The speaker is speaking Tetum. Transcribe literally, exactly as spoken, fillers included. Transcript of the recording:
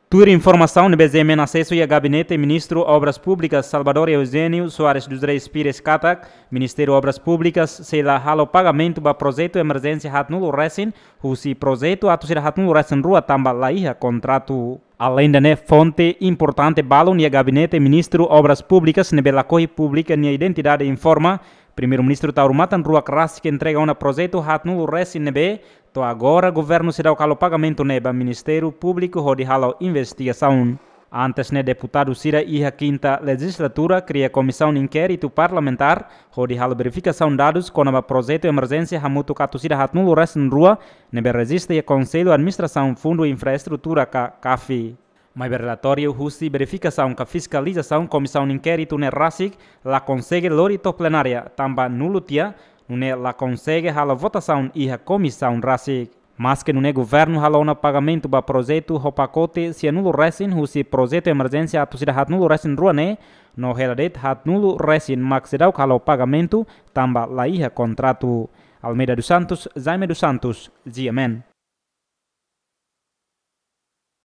Tuir informasaun ne'ebé GMN asesu iha Gabinete Ministru Obras Públikas Salvador Eugênio Soares dos Reis Pires katak, Ministériu Obras Públikas sei la halo pagamentu ba projetu emerjénsia haatnulu resin, husi projetu atus ida haatnulu resin rua tanba la iha kontratu. Aleinde ne'e, fonte importante balun iha Gabinete Ministru Obras Públikas ne'ebé lakohi publika nia identidade informa, Primeiru-Ministru Taur Matan Ruak rasik entrega ona projetu haatnulu resin ne'ebé, to'o agora governu seidauk halo pagamentu ne'e ba Ministériu Públiku hodi halo investigasaun. Antes ne'e, deputadu sira iha kinta lejizlatura kria komisaun inkéritu parlamentár hodi halo verifikasaun dadus kona-ba projetu emerjénsia hamutuk atus ida haatnulu resin rua ne'ebé rejista iha Konsellu Administrasaun Fundu Infraestrutura ka KAFI. Maibé relatóriu husi verifikasaun ka fiskalizasaun komisaun inkéritu ne'e rasik la konsege lori to'o plenária tanba nulu tiha, nune'e la konsege halo votasaun iha komisaun rasik. Maske nune'e, governu halo ona pagamentu ba projetu ho pakote sianulu resin husi projetu emerjénsia atus ida haatnulu resin rua ne'e, no hela de'it haatnulu resin mak seidauk halo pagamentu tanba la iha kontratu. Almeida dos Santos, Jaime dos Santos, GMN.